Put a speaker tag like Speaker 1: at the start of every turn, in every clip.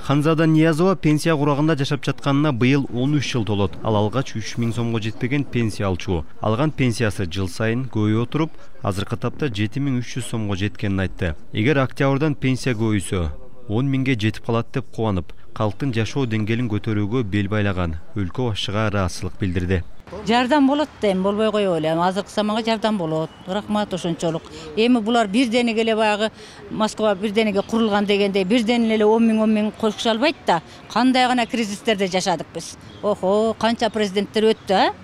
Speaker 1: Ханзада Ниязова пенсия курагында жашап жатканына быйыл 13 жыл толот. Ал алгач 3000 сомго жетпеген пенсия алчу. Алган пенсиясы жыл сайын көбөйүп отуруп, азыркы тапта 7300 сомго жеткенин айтты. Эгер октябрдан пенсия көбөйсө, 10 миңге жетип калат деп кубанып, калктын жашоо деңгээлин көтөрүүгө бел байлаган өлкө башчыга ыраазычылык билдирди.
Speaker 2: Жардам болот дейм, болбой коёбу эле. Азыркы заманга жардам болот. Рахмат ошончолук. Эми булар бирденеге эле баягы Москва бирденеге курулган дегендей бирден эле 10 миң кошуша албайт да. Кандай гана кризистерде жашадык биз. Охо, канча президенттер өттү, а?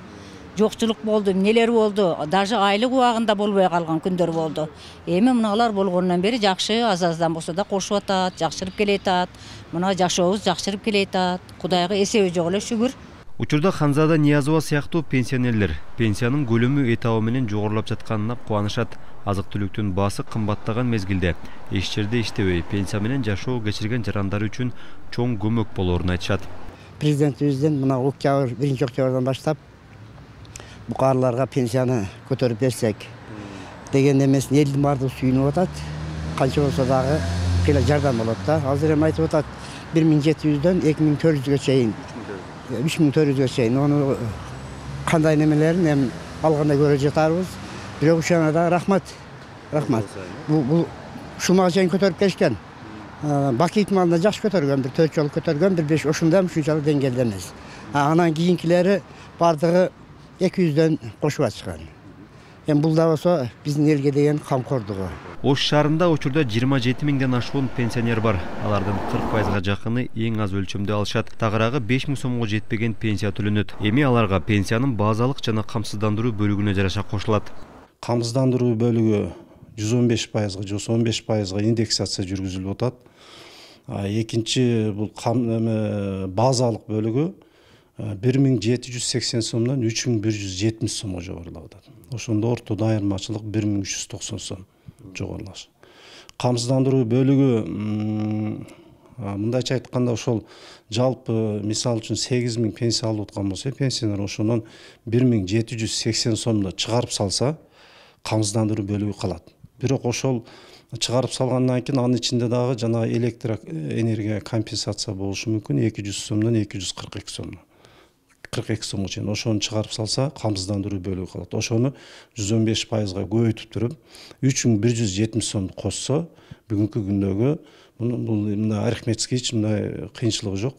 Speaker 2: Жокчулук болду, эмнелер болду. Даже айлык убагында болбой калган күндөр болду. Эми мыналар болгондон бери жакшы, аз-аздан болсо да кошуп атат, жакшырып келатат. Мына жашообуз жакшырып келатат. Кудайга эсеби жок эле шүгүр.
Speaker 1: Учурда Ханзада Ниязова сыяктуу пенсионерлер пенсиянын көлөмү этабы менен жогорулап жатканына кубанышат. Азык-түлүктүн баасы кымбаттаган мезгилде эч жерде иштебей пенсия менен жашоо кечирген жарандар үчүн чоң көмөк болоорун айтышат.
Speaker 3: Президентибизден мына октябрь 1 октябрдан баштап букарларга пенсияны көтөрүп берсек деген эмесин элдин баардыгы сүйүнүп атат. Канча болсо дагы кыйла жардам болот да. Азыр эми айтып атат 1700дөн 2400гө чейин 3400гө чейин. Ону кандай немелерин эми алганда көрө жатарбыз. Бирок ушуна да рахмат. Бул ушуга чейин көтөрүп келишкен. Баки итмалында жакшы көтөргөн, бир 4 жолу көтөргөн, бир 5 ошондой ушунчалык деңгээлде эмес. Анан кийинкилери бардыгы 200дөн кошуп атышкан. Эми бул да болсо биздин элге деген камкордугу.
Speaker 1: Ош шаарында учурда 27 миңден ашуун пенсионер бар. Алардын 40%га жакыны эң аз өлчөмдө алышат. Тагыраагы 5000 сомго жетпеген пенсия төлөнөт. Эми аларга пенсиянын базалык жана камсыздандыруу бөлүгүнө жараша кошулат.
Speaker 4: Камсыздандыруу бөлүгү 115%га же 15%га индексация жүргүзүлүп атат. Экинчи бул базалык бөлүгү 1780 сомдон 3170 сомго жогорулап атат. Ошондо ортодо айырмачылык 1390 сом жогорулаш. Камсыздандыруу бөлүгү мындайча айтканда ошол жалпы мисал үчүн 8000 пенсия алып аткан болсо, пенсионер ошонун 1780 сомдо чыгарып салса, камсыздандыруу бөлүгү калат. Бирок ошол чыгарып салгандан кийин анын ичинде дагы жана электроэнергия компенсация болушу мүмкүн 200 сомдон 242 сом. 42 сомго чейин ошону чыгарып салса, камсыздандыруу бөлүгү калат. Ошону 115%га көбөйтүп туруп 3170 сомду кошсо, бүгүнкү күндөгү мындай арифметический мындай кыйынчылыгы жок.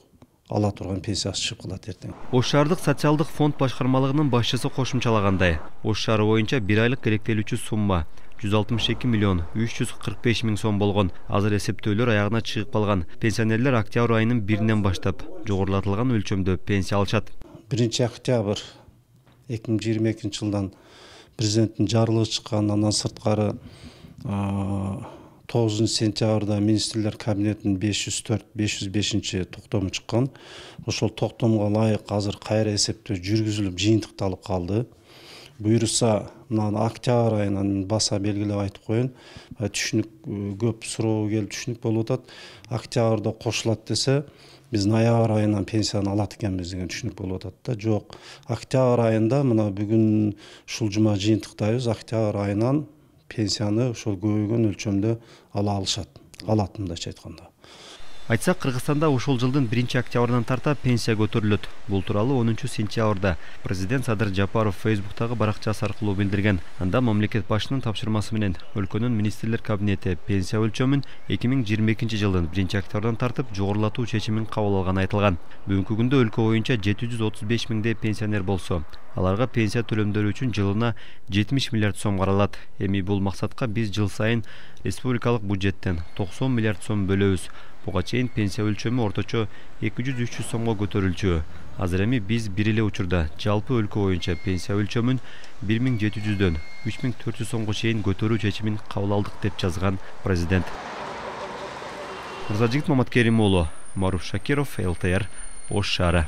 Speaker 4: Ала турган пенсиясы чыгып калат эртең.
Speaker 1: Ош шаардык социалдык фонд башкармалыгынын башчысы кошумчалагандай, Ош шаары боюнча 1 айлык керектелүүчү сумма 162 миллион 345 миң сом болгон. Азыр эсептөөлөр аягына чыгып калган. Пенсионерлер октябрь айынын 1-нен баштап жогорулатылган өлчөмдө пенсия алышат.
Speaker 4: 1 октябрь 2022 жылдан президенттин жарлыгы чыккан, андан сырткары 9 сентябрда министрлер кабинетинин 504-505 токтому чыккан. Ошол токтомго ылайык азыр кайра эсептөө жүргүзүлүп, жыйынтыкталып калды. Буюрса, мына октябрь айынан баса белгилеп айтып коеюн. Түшүнүк көп суроо келип түшүнүк болуп атат. Октябрда кошулат десе, биз ноябрь айынан пенсияны алат экенбиз деген түшүнүк болуп атат да. Жок, октябрь айында мына бүгүн ушул жума жыйынтыктайбыз. Октябрь айынан пенсияны ошол көбөйгөн өлчөмдө ала алышат. Алат мындайча айтканда.
Speaker 1: Айтсак, Кыргызстанда ушул жылдын 1 октябрдан тарта пенсия көтөрүлөт. Бул тууралуу 10 сентябрда президент Садыр Жапаров Facebooktагы баракчасы аркылуу билдирген. Анда мамлекет башчынын тапшырмасы менен өлкөнүн министрлер кабинети пенсия өлчөмүн 2022 жылдын 1 октябрдан тартып жогорулатуу чечимин кабыл алганы айтылган. Бүгүнкү күндө өлкө боюнча 735 миңдей пенсионер болсо, аларга пенсия төлөмдөрү үчүн жылына 70 миллиард сом каралат. Эми бул максатка биз жыл сайын республикалык бюджеттен 90 миллиард сом бөлөбүз. Буга чейин пенсия өлчөмү орточо 200-300 сомго көтөрүлчү. Азыр эми биз бир эле учурда жалпы өлкө боюнча пенсия өлчөмүн 1700дөн 3400 сомго чейин көтөрүү чечимин кабыл алдык деп жазган президент. Мырзажигит Маматкерим уулу, Маруф Шакиров, ЛТР, Ош шаары.